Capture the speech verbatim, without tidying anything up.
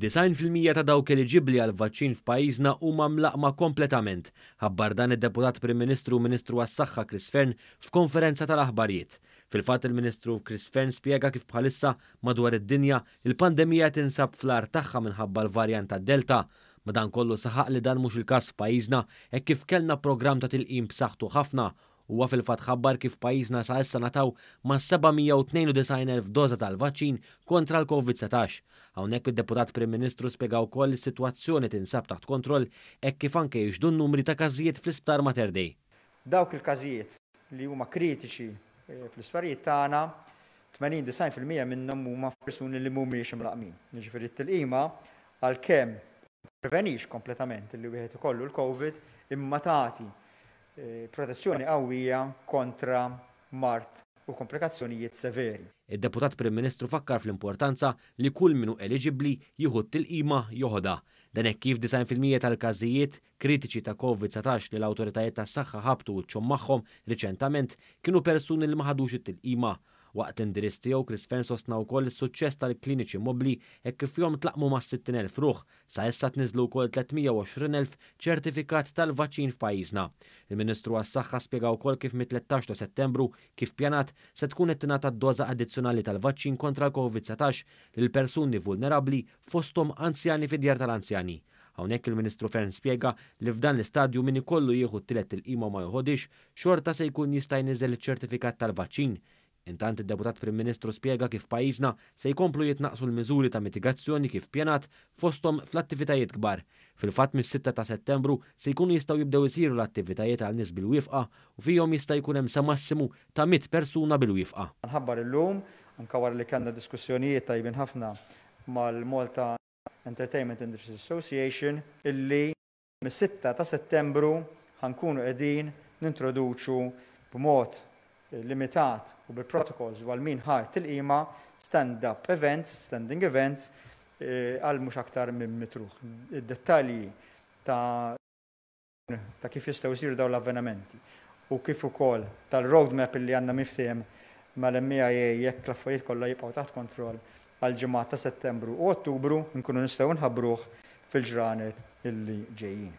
Disgħin fil-mija ta' dawk eliġibbli għal vaċċin f'pajjiżna huma mlaqqma kompletament. Ħabbar dan id-Deputat Prim Ministru u Ministru għas-Saħħa Chris Fearne f'konferenza tal-aħbarijiet. Fil-fatt, il-Ministru Chris Fearne spjega kif bħalissa madwar id-dinja il-pandemija tinsab fl-agħar tagħha minħabba l-varjant ta' Delta. Madankollu saħaq li dan mhux il-każ f'pajjiżna, hekk kif kellna programm ta' tilqim b'saħħtu ħafna. Huwa fil-fatt ħabbar kif pajjiżna sa issa ngħataw ma' seba' mija u tnejn u disgħin elf doża tal-vaċċin kontra l-Covid satax. Hawnhekk id-Deputat Prim Ministru spjega wkoll li s-sitwazzjoni tinsab taħt kontroll hekk kif anke jixhdu n-numri ta' każijiet fl-Isptar Mater Dei. Dawk il-każijiet li huma kritiċi, eh, fl-isptarijiet tagħna, tmenin disgħin fil-mija minnhom huma persuni li mhumiex imlaqqmin. Jiġifieri t-tilqima għalkemm prevenix kompletament li wieħed ikollu l-Covid, imma tagħti, eh, protezzjoni qawwija kontra mard u komplikazzjonijiet severi. Id-Deputat Prim Ministru fakkar fl-importanza li kull min hu eliġibbli jieħu t-tilqima joħodha. Dan hekk kif disgħin fil-mija tal-każijiet kritiċi ta' Covid satax li l-awtoritajiet tas-saħħa ħabtu wiċċhom magħhom riċentament kienu persuni li ma ħadux it-tilqima. Waqt l-indirizz tiegħu, Chris Fearne sostna wkoll is-suċċess tal-kliniċi mobbli hekk kif fihom tlaqmu ma' sittin elf ruħ, sa issa tniżlu wkoll tliet mija u għoxrin elf ċertifikat tal-vaċċin f'pajjiżna. Il-Ministru għas-Saħħa spjega wkoll kif mit-tlettax ta' Settembru kif pjanat se tkun qed tingħata d-doża addizzjonali tal-vaċċin kontra l-Covid satax lil persuni vulnerabbli, fosthom anzjani fid-djar tal-anzjani. Hawnhekk il-Ministru Fearne spjega li f'dan l-istadju min ikollu jieħu t-tielet tilqima ma joħodix, xorta se jkun jista' jniżel iċ-ċertifikat tal-vaċċin. Intant id-Deputat Prim Ministru spjega kif pajjiżna se jkomplu jitnaqsu l-miżuri ta' mitigazzjoni kif pjanat fosthom fl-attivitajiet kbar. Fil-fatt, mis-sitta ta' Settembru se jkunu jistgħu jibdew isiru l-attivitajiet għal nies bil-wifqa u fihom jista' jkun hemm sa massimu ta' mitt persuna bil-wifqa. Nħabbar illum, anke wara li kellna diskussjonijiet tajbin ħafna mal-Malta Entertainment Industries Association, illi mis-sitta ta' Settembru ħankunu qegħdin nintroduċu b'mod limitat u bil-protocols u għal min ħa tilqima stand-up events, standing events, eh, għal mhux aktar minn mitt ruħ. Id-dettalji ta', ta' kif jistgħu jsiru dawn l-avvenimenti u kif ukoll tal-roadmap li għandna miftehim mal-M E I A jekk l-affarijiet kollha jibqgħu taħt kontroll għal ġimgħat ta' Settembru u Ottubru nkunu nistgħu nħabbruh fil-ġranet illi ġejjin.